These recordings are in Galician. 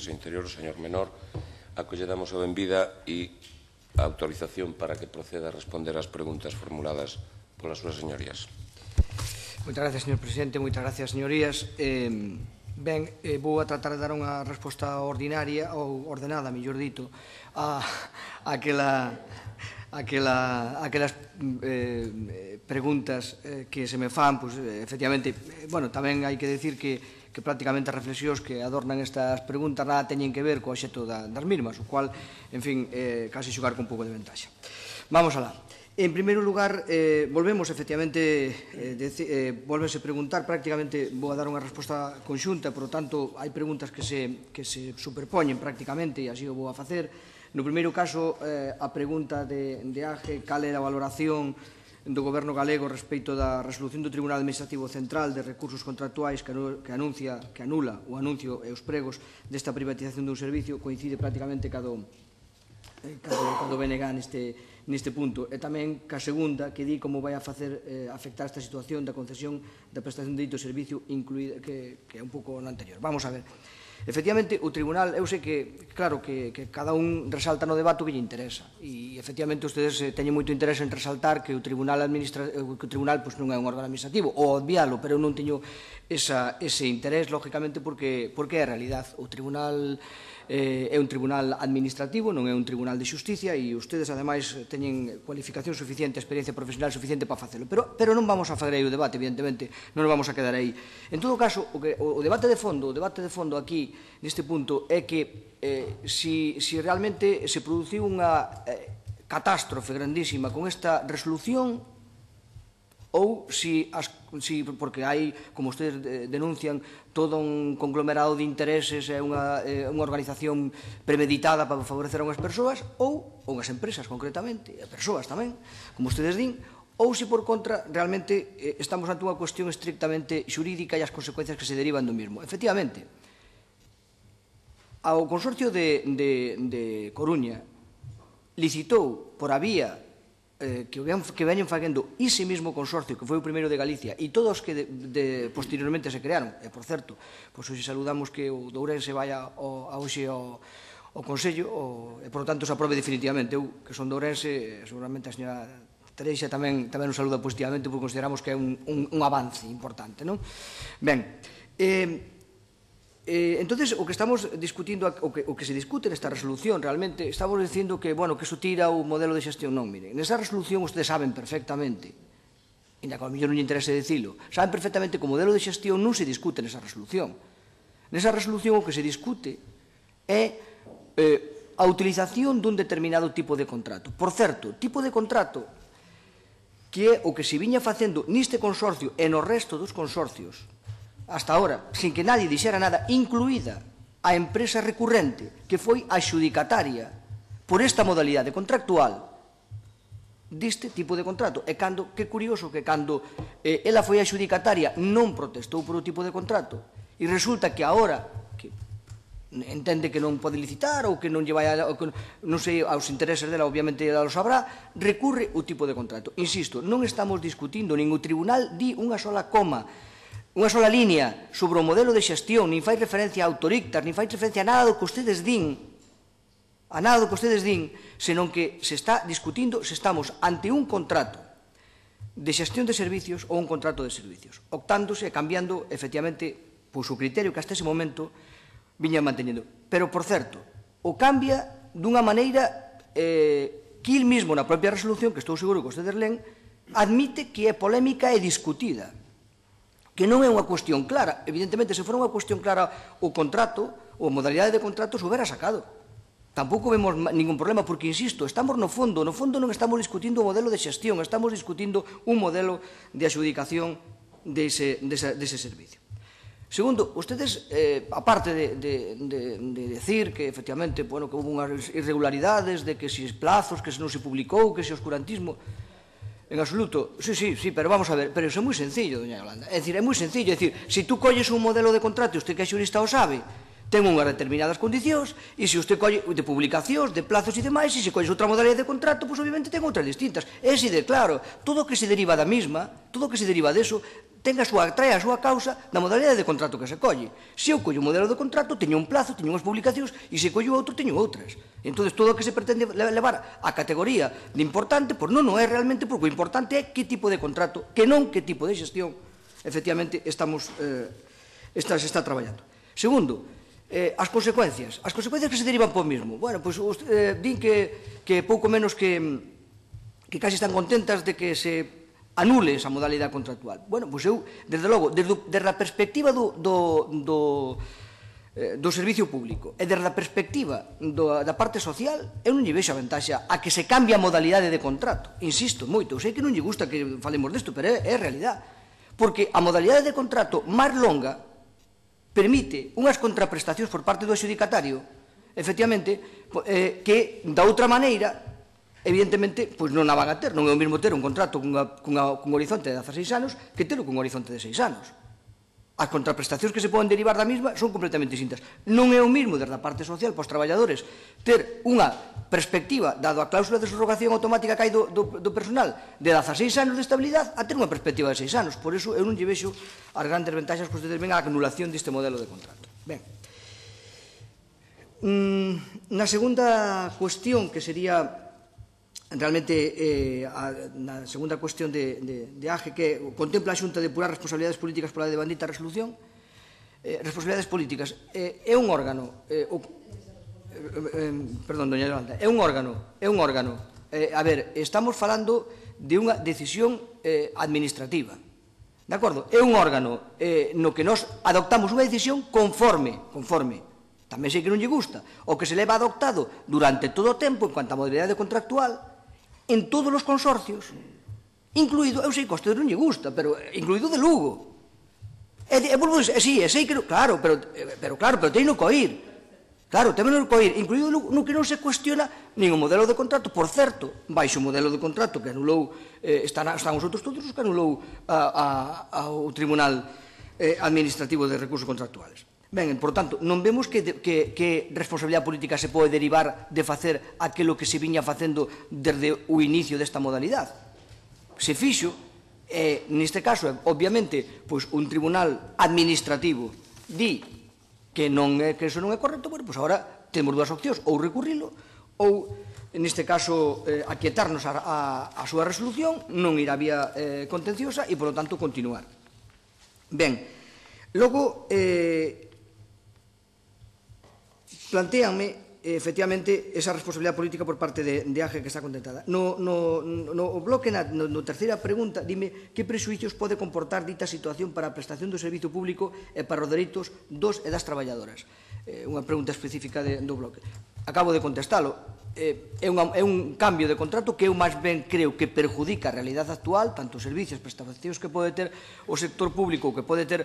Exteriores e Interior, o señor Menor, acolledamos a benvida e a autorización para que proceda a responder ás preguntas formuladas polas súas señorías. Moitas gracias, señor presidente. Moitas gracias, señorías. Ben, vou a tratar de dar unha resposta ordinaria, ou ordenada, mellor dito, a aquelas preguntas que se me fan, pois, efectivamente, bueno, tamén hai que decir que prácticamente as reflexións que adornan estas preguntas nada teñen que ver co obxecto das mismas, o cual, en fin, casi xogar con un pouco de ventaxa. Vamos alá. En primeiro lugar, volvemos, efectivamente, volvense preguntar, prácticamente vou a dar unha resposta conxunta, por lo tanto, hai preguntas que se superpoñen prácticamente, e así o vou a facer. No primeiro caso, a pregunta de Ángel, cal é a valoración do Goberno galego respecto da resolución do Tribunal Administrativo Central de recursos contractuais que anula o anuncio e os pregos desta privatización dun servicio, coincide prácticamente cado BNG neste punto, e tamén ca segunda que di como vai a facer afectar esta situación da concesión da prestación de dito servicio incluída, que é un pouco no anterior. Vamos a ver. Efectivamente, o Tribunal, eu sei que, claro, que cada un resalta no debate o que lle interesa, e efectivamente ustedes teñen moito interés en resaltar que o Tribunal non é un órgano administrativo, ou obvialo, pero eu non teño ese interés, lógicamente, porque é a realidade. O Tribunal é un tribunal administrativo, non é un tribunal de xusticia, e ustedes, ademais, teñen cualificación suficiente, experiencia profesional suficiente para facelo. Pero non vamos a fazer aí o debate, evidentemente, non nos vamos a quedar aí. En todo caso, o debate de fondo aquí, neste punto, é que si realmente se produciu unha catástrofe grandísima con esta resolución, ou porque hai, como ustedes denuncian, todo un conglomerado de intereses e unha organización premeditada para favorecer a unhas persoas, ou unhas empresas, concretamente, e persoas tamén, como ustedes din, ou se, por contra, realmente estamos ante unha cuestión estrictamente xurídica e as consecuencias que se derivan do mismo. Efectivamente, o Consorcio de Coruña licitou por a vía que veñen facendo ese mesmo consorcio que foi o primeiro de Galicia e todos que posteriormente se crearon, e por certo, pois hoxe saludamos que o de Ourense vaya hoxe ao Consello e por lo tanto se aprobe definitivamente. Eu, que son de Ourense, seguramente a señora Tereixa tamén nos saluda positivamente porque consideramos que é un avance importante, non? Ben, entonces, o que estamos discutindo, o que se discute nesta resolución, realmente, estamos dicindo que, bueno, que iso tira o modelo de xestión. Non, miren, nesa resolución ustedes saben perfectamente, ainda que ao mellor non lle interese dicilo, saben perfectamente que o modelo de xestión non se discute nesa resolución. Nesa resolución o que se discute é a utilización dun determinado tipo de contrato. Por certo, tipo de contrato que é o que se viña facendo neste consorcio e no resto dos consorcios hasta ahora, sin que nadie dixera nada, incluída a empresa recurrente, que foi a xudicataria por esta modalidade contractual deste tipo de contrato. E que curioso que cando ela foi a xudicataria non protestou por o tipo de contrato, e resulta que agora que entende que non pode licitar ou que non lle vai non sei, aos intereses dela, obviamente ela lo sabrá, recurre o tipo de contrato. Insisto, non estamos discutindo, nin o tribunal di unha sola coma, unha sola línea sobre o modelo de xestión, nin fai referencia a autorictas, nin fai referencia a nada do que ustedes din, senón que se está discutindo se estamos ante un contrato de xestión de servicios ou un contrato de servicios, optándose e cambiando, efectivamente, pois o criterio que hasta ese momento viñan manteñendo. Pero, por certo, o cambia dunha maneira que il mismo na propia resolución, que estou seguro que ustedes len, admite que é polémica e discutida, que non é unha cuestión clara. Evidentemente, se fora unha cuestión clara o contrato, ou a modalidade de contrato, se houbera sacado. Tampouco vemos ningún problema, porque, insisto, estamos no fondo non estamos discutindo o modelo de xestión, estamos discutindo un modelo de adxudicación dese servicio. Segundo, ustedes, aparte de decir que, efectivamente, que houve unhas irregularidades, de que se plazos, que se non se publicou, que se oscurantismo, en absoluto, sí, pero vamos a ver, pero iso é moi sencillo, doña Yolanda. É dicir, é moi sencillo, é dicir, se tú colles un modelo de contrato, e usted que é xurista o sabe, ten unhas determinadas condicións, e se usted colle de publicacións, de plazos e demais, e se colles outra modalidade de contrato, pois obviamente ten outras distintas. É así de claro, todo o que se deriva da mesma, todo o que se deriva deso, trae a súa causa da modalidade de contrato que se colle. Se eu collo un modelo de contrato, teño un plazo, teño unhas publicacións, e se collo outro, teño outras. Entón, todo o que se pretende levar a categoría de importante, pois non é realmente, porque o importante é que tipo de contrato, que non que tipo de xestión, efectivamente, está traballando. Segundo, as consecuencias que se derivan por mismo. Bueno, pois din que pouco menos que casi están contentas de que se anule esa modalidade contractual. Bueno, pois eu, desde logo, desde a perspectiva do servicio público e desde a perspectiva da parte social, eu non lle vexo a vantaxa a que se cambie a modalidade de contrato. Insisto moito, eu sei que non lle gusta que falemos desto, pero é realidade. Porque a modalidade de contrato máis longa permite unhas contraprestacións por parte do adxudicatario, efectivamente, que da outra maneira, evidentemente, pois non a van a ter. Non é o mesmo ter un contrato cun horizonte de 16 anos que ter cun horizonte de 6 anos. As contraprestacións que se poden derivar da mesma son completamente distintas. Non é o mesmo, desde a parte social, para os traballadores, ter unha perspectiva, dado a cláusula de subrogación automática que hai do personal, de 16 anos de estabilidade, a ter unha perspectiva de 6 anos. Por iso, eu non lle vexo as grandes ventaxas que ustedes ven a anulación deste modelo de contrato. Ben. Na segunda cuestión, que sería realmente na segunda cuestión de AGE, que contempla a Xunta depurar responsabilidades políticas pola devandita resolución. Responsabilidades políticas é un órgano, perdón, doña Yolanda, é un órgano, a ver, estamos falando de unha decisión administrativa, de acordo? É un órgano no que nós adoptamos unha decisión conforme, tamén sei que non lle gusta, o que se leva adoptado durante todo o tempo en cuanto a modalidade contractual, en todos os consorcios, incluído, eu sei que a usted non lle gusta, pero incluído de Lugo. Sí, sei que, claro, pero teño que oír. Claro, tamén non que oír, incluído no que non se cuestiona nin o modelo de contrato, por certo, baixo o modelo de contrato que anulou, están os outros todos os que anulou ao Tribunal Administrativo de Recursos Contractuales. Ben, por tanto, non vemos que responsabilidade política se pode derivar de facer aquilo que se viña facendo desde o inicio desta modalidade. Se fixo, neste caso, obviamente, pois un tribunal administrativo di que iso non é correcto, bueno, pois agora temos dúas opcións, ou recurrilo, ou, neste caso, aquietarnos a súa resolución, non ir á vía contenciosa e, polo tanto, continuar. Ben, logo, plantéanme, efectivamente, esa responsabilidade política por parte de AGE que está contentada. No bloque, na terceira pregunta, dime que prexuicios pode comportar dita situación para a prestación do servizo público e para os dereitos dos e das traballadoras. Unha pregunta específica do bloque. Acabo de contestalo. É un cambio de contrato que eu máis ben creo que perjudica a realidade actual, tanto os servicios, prestacións que pode ter o sector público, que pode ter,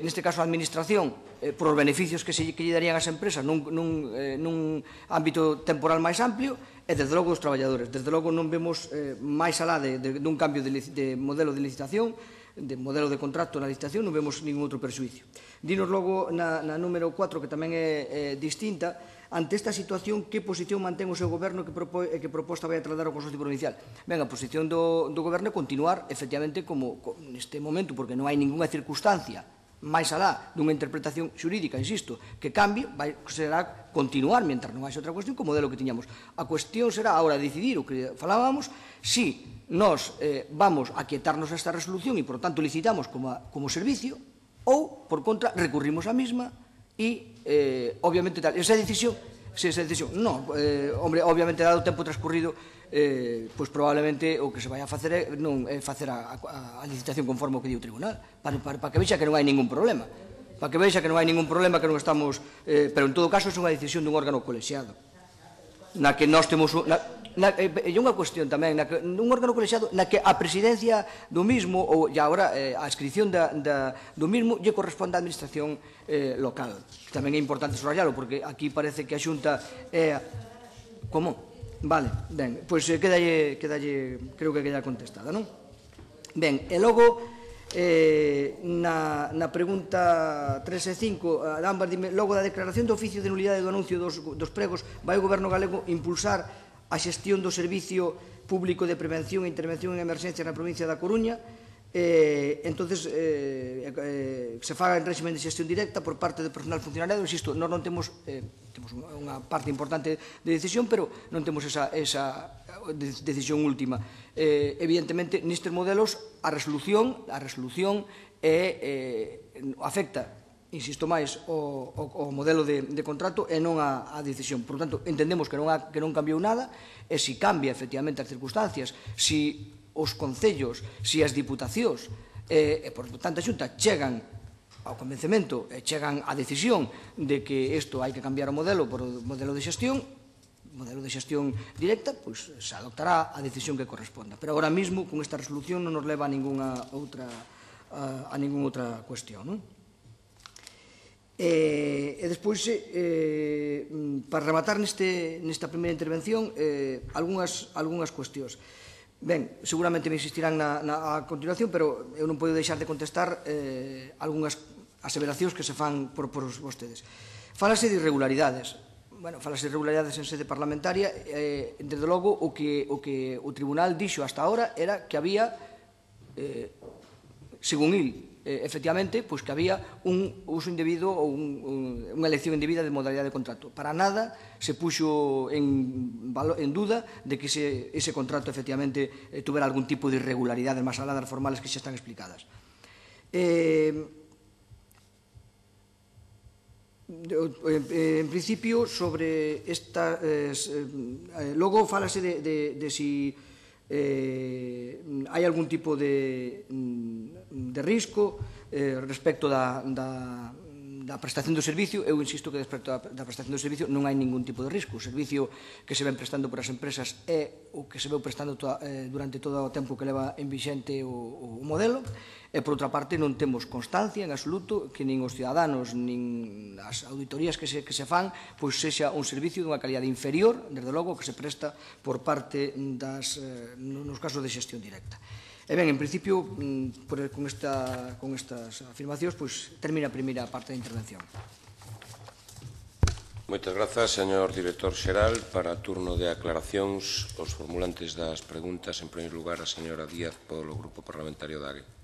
neste caso, a administración, por os beneficios que lle darían as empresas nun ámbito temporal máis amplio, e, desde logo, os traballadores. Desde logo, non vemos máis alá dun cambio de modelo de licitación, de modelo de contrato na licitación, non vemos ningún outro perxuicio. Dinos logo na número 4, que tamén é distinta. Ante esta situación, que posición mantén o seu goberno e que proposta vai a trasladar ao Consorcio Provincial? Ben, a posición do goberno é continuar, efectivamente, como neste momento, porque non hai ninguna circunstancia máis alá dunha interpretación xurídica, insisto, que cambie, será continuar, mentre non haxe outra cuestión, co modelo que tiñamos. A cuestión será, agora, decidir o que falábamos, si nós vamos a quietarnos esta resolución e, por tanto, licitamos como servicio, ou, por contra, recurrimos a mesma e, obviamente, tal. Esa decisión, non, hombre, obviamente, dado o tempo transcurrido, pois probablemente o que se vai a facer é facer a licitación conforme o que di o tribunal, para que vexa que non hai ningún problema, que non estamos, pero en todo caso é unha decisión dun órgano colexiado, na que nós temos e unha cuestión tamén, un órgano colexiado na que a presidencia do mismo, ou agora a adscripción do mismo, lle corresponde á administración local. Tamén é importante subrayalo, porque aquí parece que a Xunta é... Como? Vale, ben, pois quedalle, creo que queda contestada, non? Ben, e logo, na pregunta 3 e 5, ambas dime, logo da declaración de oficio de nulidade do anuncio dos pregos, vai o Goberno galego impulsar a xestión do Servicio Público de Prevención e Intervención en Emerxencias na provincia da Coruña, Entonces, se faga en régimen de xestión directa por parte do personal funcionariado. Insisto, nós non temos unha parte importante de decisión, pero non temos esa decisión última. Evidentemente, nestes modelos, a resolución afecta, insisto máis, o modelo de contrato e non a decisión. Por tanto, entendemos que non cambiou nada, e se cambia efectivamente as circunstancias, se os concellos, se as diputacións e, por tanto, a Xunta chegan ao convencemento e chegan á decisión de que isto hai que cambiar o modelo por o modelo de xestión directa, pois se adoptará a decisión que corresponda. Pero agora mesmo, con esta resolución, non nos leva a ninguna outra cuestión, non? E despois, para rematar nesta primeira intervención, algunhas cuestións. Ben, seguramente me insistirán a continuación, pero eu non podo deixar de contestar algunhas aseveracións que se fan por vostedes. Fálase de irregularidades. Bueno, fálase de irregularidades en sede parlamentaria. Desde logo, o que o Tribunal dixo hasta ahora era que había, según il, efectivamente, pois que había un uso indebido ou unha elección indebida de modalidade de contrato. Para nada se puxo en duda de que ese contrato efectivamente tuvera algún tipo de irregularidades máis alá das formales que xa están explicadas. En principio, sobre esta... Logo, fálase de si hai algún tipo de risco respecto da prestación do servicio. Eu insisto que respecto da prestación do servicio non hai ningún tipo de risco. O servicio que se ven prestando por as empresas é o que se veu prestando durante todo o tempo que leva en vixente o modelo. E, por outra parte, non temos constancia en absoluto que nin os ciudadanos nin as auditorías que se fan pois sexa un servicio dunha calidade inferior, desde logo, que se presta por parte nos casos de xestión directa. E ben, en principio, con estas afirmacións, pois termina a primeira parte da intervención. Moitas grazas, señor director xeral. Para turno de aclaracións, os formulantes das preguntas, en primeiro lugar, a señora Díaz, polo Grupo Parlamentario da AGE.